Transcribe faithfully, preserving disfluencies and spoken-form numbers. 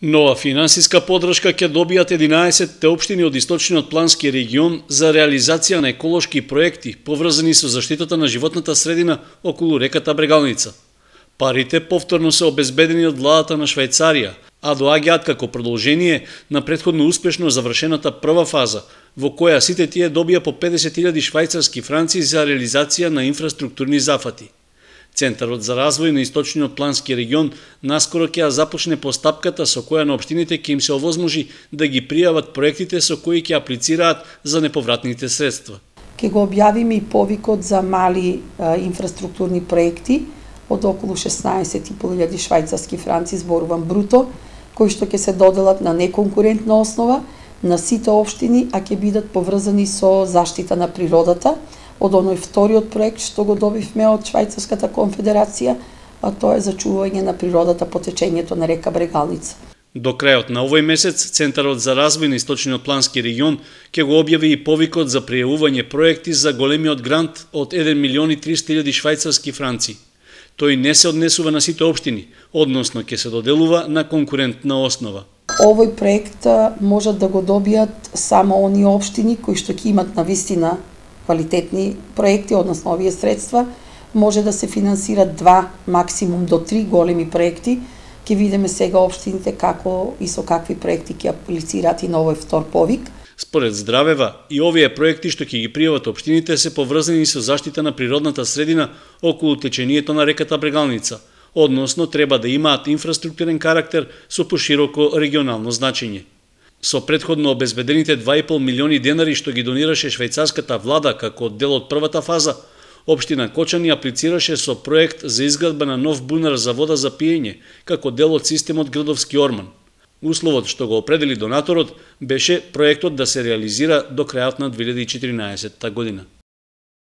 Нова финансиска подршка ќе добијат единаесет општини од источниот плански регион за реализација на еколошки проекти поврзани со заштитата на животната средина околу реката Брегалница. Парите повторно се обезбедени од владата на Швајцарија, а доаѓаат како продолжение на претходно успешно завршената прва фаза, во која сите тие добија по педесет илјади швајцарски франци за реализација на инфраструктурни зафати. Центарот за развој на источниот плански регион наскоро ќе започне постапката со која на општините ќе им се овозможи да ги пријават проектите со кои ќе аплицираат за неповратните средства. Ке го објавиме и повикот за мали а, инфраструктурни проекти од околу шеснаесет и пол илјади швајцарски франци, зборувам бруто, кои што ќе се доделат на неконкурентна основа на сите општини, а ќе бидат поврзани со заштита на природата, од оној вториот проект што го добивме од Швајцарската конфедерација, а тоа е зачување на природата по течењето на река Брегалница. До крајот на овој месец, Центарот за развој на источниот плански регион ќе го објави и повикот за пријавување проекти за големиот грант од еден милион и триста илјади швајцарски франци. Тој не се однесува на сите општини, односно ќе се доделува на конкурентна основа. Овој проект можат да го добијат само оние општини кои што ќе имат навистина квалитетни проекти, односно овие средства, може да се финансират два, максимум до три големи проекти. Ќе видиме сега општините како и со какви проекти ќе аплицираат и на овој втор повик. Според Здравева, и овие проекти што ќе ги пријават општините се поврзани со заштита на природната средина околу течението на реката Брегалница, односно треба да имаат инфраструктурен карактер со пошироко регионално значење. Со претходно обезбедените два и пол милиони денари што ги донираше швајцарската влада како дел од првата фаза, општина Кочани аплицираше со проект за изградба на нов бунар за вода за пиење, како дел од системот Градовски орман. Условот што го определи донаторот беше проектот да се реализира до крајот на две илјади и четиринаесетта година.